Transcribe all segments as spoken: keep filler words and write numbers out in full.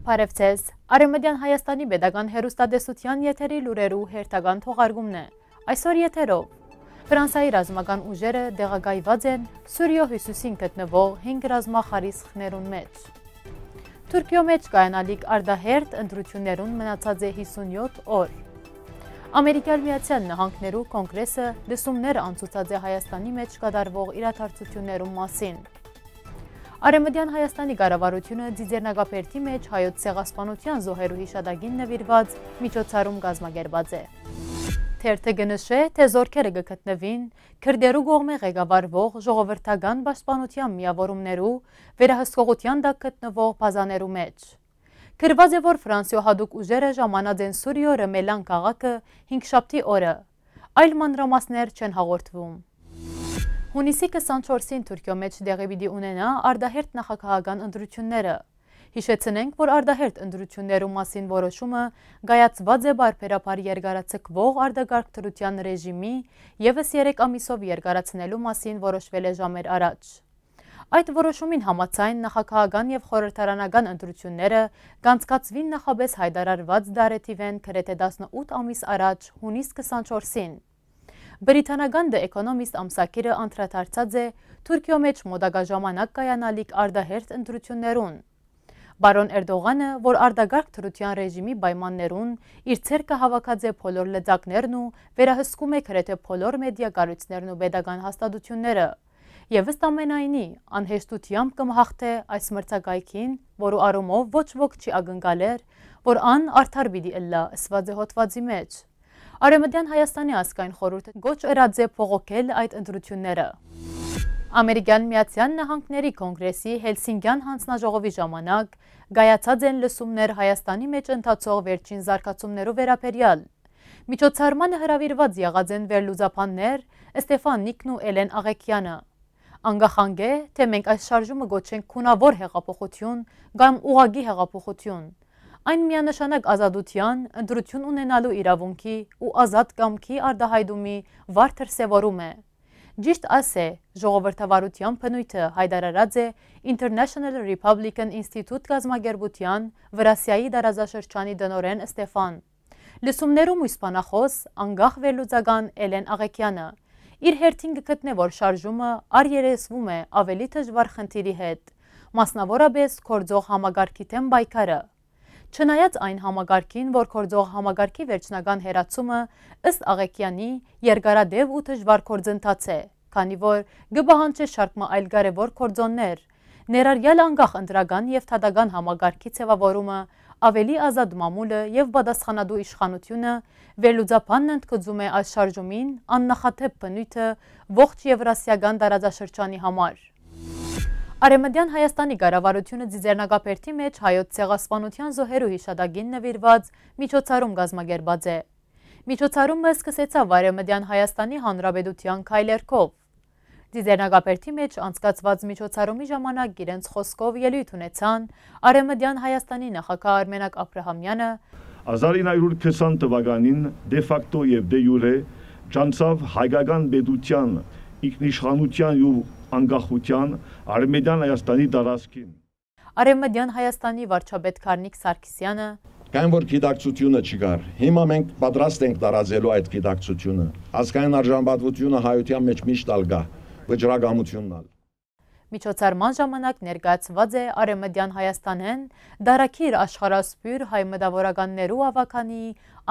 Բարև ձեզ։ Արեւմտեան Հայաստանի պետական հեռուստատեսության եթերի լուրերու հերթական թողարկումն է։ Այսօր եթերով. Ֆրանսայի ռազմական ուժերը տեղակայված են Սուրիոյ հիւսիսին գտնուող հինգ ռազմախարիսխներուն մէջ։ Թուրքիոյ մէջ կայանալիք արտահերթ ընտրութիւններուն մնացած է հիսունյոթ օր։ Ամերիկյան Միացյալ Նահանգներու Կոնկրեսը լսումներ անցուցած է Հայաստանի մէջ կատարուող իրադարձութիւններուն մասին։ Արեւմտեան Հայաստանի կառավարութիւնը Ծիծեռնակաբերդի մէջ հայոց ցեղասպանութեան զոհերու յիշատակին նուիրուած միջոցառում կազմակերպած է։ Թերթը կը նշէ, թէ զօրքերը կը գտնուին քրտերու կողմէ ղեկավարուող ժողովրդական պաշտպանութեան միաւորումներու վերահսկողութեան տակ գտնուող բազաներու մէջ։ Գրուած է, որ Ֆրանսիոյ յատուկ ուժերը ժամանած են Սուրիոյ Ռեմելան քաղաքը հինգշաբթի օրը։ Այլ մանրամասներ չեն հաղորդվում։ Յունիսի քսանչորսին Թուրքիոյ մէջ տեղի պիտի ունենայ արտահերթ նախագահական ընտրութիւնները։ Յիշեցնենք, որ արտահերթ ընտրութիւններու մասին որոշումը կայացուած է պարբերաբար երկարաձգուող արտակարգ դրութեան ռեժիմի եւս երեք ամիսով երկարացնելու մասին որոշուելէ ժամեր առաջ։ Այդ որոշումին համաձայն, նախագահական եւ խորհրդարանական ընտրութիւնները կանցկացուին նախապէս յայտարարուած տարեթիւէն գրեթէ տասնութ ամիս առաջ, յունիս քսանչորսին։ Բրիտանական The Economist ամսագիրը անդրադարձած է Թուրքիոյ մէջ մօտակայ ժամանակ կայանալիք արտահերթ ընտրութիւններուն։ Պարոն Էրտողանը, որ արտակարգ դրութեան ռեժիմի պայմաններուն իր ձեռքը հաւաքած է բոլոր լծակներն ու վերահսկում է գրեթէ բոլոր մեդիա կառոյցներն ու պետական հաստատութիւնները, եւ ըստ ամենայնի, անհեշտութեամբ կը մաղթէ այս մրցակայքին, որու առումով ոչ ոք չի ակնկալեր, որ ան արդար պիտի ըլլայ, ըսուած է հոդուածի մէջ։ Արեւմտեան Հայաստանի ազգային խորհուրդը կոչ ըրած է բողոքել այդ ընտրութիւնները։ Ամերիկյան Միացյալ Նահանգների Կոնկրեսի Հելսինկյան յանձնաժողովի ժամանակ կայացած են լսումներ Հայաստանի մէջ ընթացող վերջին զարգացումներու վերաբերեալ։ Միջոցառմանը հրաւիրուած եղած են վերլուծաբաններ Ստեֆան Նիքն ու Էլեն Աղեքեանը։ Անկախ անկէ, թէ մենք այս շարժումը կոչենք գունաւոր հեղափոխութիւն կամ ուղղակի հեղափոխութիւն, այն միանշանակ ազատութեան, ընտրութիւն ունենալու իրաւունքի ու ազատ կամքի արտայայտումի վառ դրսեւորում է։ Ճիշդ այս է, ժողովրդավարութեան բնոյթը, յայտարարած է International Republican Institute կազմակերպութեան Վրասիայի տարածաշրջանի տնօրէն Ստեֆան։ Լսումներու մոյս բանախօս, անկախ վերլուծական Էլեն Աղեքեանը, իր հերթին կը գտնէ, որ շարժումը առերեսվում է աւելի դժուար խնդիրի հետ, մասնաւորապէս գործող համակարգի դէմ պայքարը։ Չնայած այն համակարգին, որ գործող համակարգի վերջնական հեռացումը, ըստ Աղեքեանի, երկարատեւ ու դժուար գործընթաց է, քանի որ կը պահանջէ շարք մը այլ կարեւոր գործոններ, ներառյալ անկախ ընտրական եւ դատական համակարգի ձեւաւորումը, աւելի ազատ մամուլը եւ պատասխանատու իշխանութիւնը, վերլուծաբանն ընդգծում է այս շարժումին աննախադէպ բնոյթը ողջ Եվրասիական տարածաշրջանի համար։ Արեւմտեան Հայաստանի կառավարութիւնը Ծիծեռնակաբերդի մէջ հայոց ցեղասպանութեան զոհերու յիշատակին նուիրուած միջոցառում կազմակերպած է։ Միջոցառումը սկսեցաւ Արեւմտեան Հայաստանի Հանրապետութեան քայլերգով։ Ծիծեռնակաբերդի մէջ անցկացուած միջոցառումի ժամանակ իրենց խօսքով ելոյթ ունեցան Արեւմտեան Հայաստանի նախագահ Արմենակ Աբրահամեանը, Հազար ինը հարյուր քսան թուականին դե ֆակտո եւ դե յուրե ճանչցաւ հայկական պետութեան, ինքնիշխանութեան ու անկախութեան Արեւմտեան Հայաստանի տարածքին։ Արեւմտեան Հայաստանի վարչապետ Գառնիկ Սարգսեանը, Քանի որ գիտակցությունը չկար, հիմա մենք պատրաստ ենք տարածելու այդ գիտակցությունը։ Ազգային արժանապատվությունը հայության մեջ միշտ ալ կայ, վճռակամությունն ալ։ Միջոցառման ժամանակ ներկայացուած է Արեւմտեան Հայաստանէն Դարակիր աշխարհասփիւռ հայ մտաւորականներու աւագանի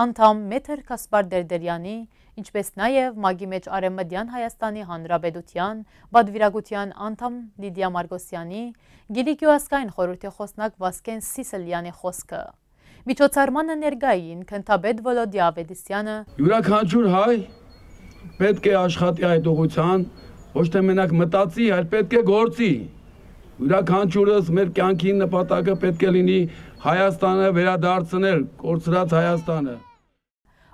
անդամ Մետր Գասպար Տերտերեանի, ինչպէս նաեւ ՄԱԿ-ի մէջ Արեւմտեան Հայաստանի Հանրապետութեան պատվիրակութեան անդամ Լիդիա Մարկոսեանի, Կիլիկիոյ ազգային խորհրդի խօսնակ Վասկեն Սիսլեանի խօսքը։ Միջոցառմանը ներկայ էին գնդապետ Վոլոդիա Ավետիսեանը, Յուրաքանչյուր հայ պէտք է աշխատի այդ ուղղութեան, ոչ թե մենակ մտածի, այլ պէտք է գործի։ Յուրաքանչյուրս մեր կեանքի նպատակը պէտք է լինի Հայաստանը վերադարձնել, կորցրած Հայաստանը։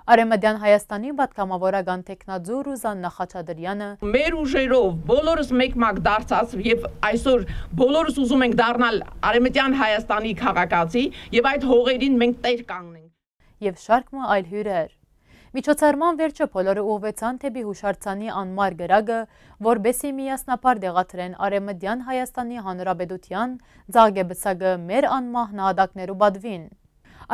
Արեւմտեան Հայաստանի պատգամավորական թեկնածու Ռուզաննա Խաչատրեանը, Մեր ուժերով բոլորս մեկ-մակ դարձած եւ այսօր բոլորս ուզում ենք դառնալ Արեւմտեան Հայաստանի քաղաքացի եւ այդ հողերին մենք տեր կանգնենք։ Եւ շարք մը այլ հիւրեր։ Միջոցառման վերջը բոլորը ուղղուեցան դէպի յուշարձանի անմար կրակը, որպէս զի միասնաբար տեղադրեն Արեւմտեան Հայաստանի Հանրապետութեան ծաղկեպսակը մեր անմահ նահատակներու պատուին։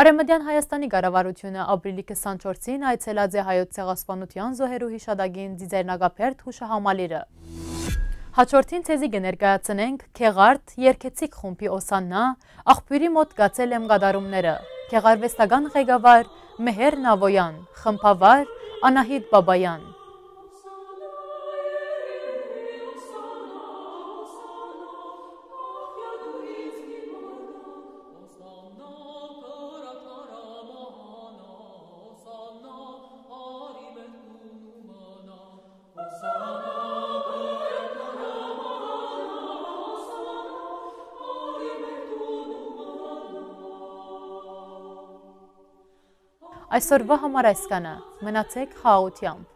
Արեւմտեան Հայաստանի կառավարութիւնը ապրիլի քսանչորսին այցելած է Հայոց ցեղասպանութեան զոհերու յիշատակին Ծիծեռնակաբերդ յուշահամալիրը։ Հաջորդին ձեզի կը ներկայացնենք Գեղարդ երգեցիկ խումբի Օսաննա, Աղբիւրի մօտ գացել եմ կատարումները, գեղարուեստական ղեկավար Մեհեր Նավոյան, խմբավար Անահիտ Բաբայան։ Այսօրվա համար այսքանը։ Մնացեք խաղաղութեամբ։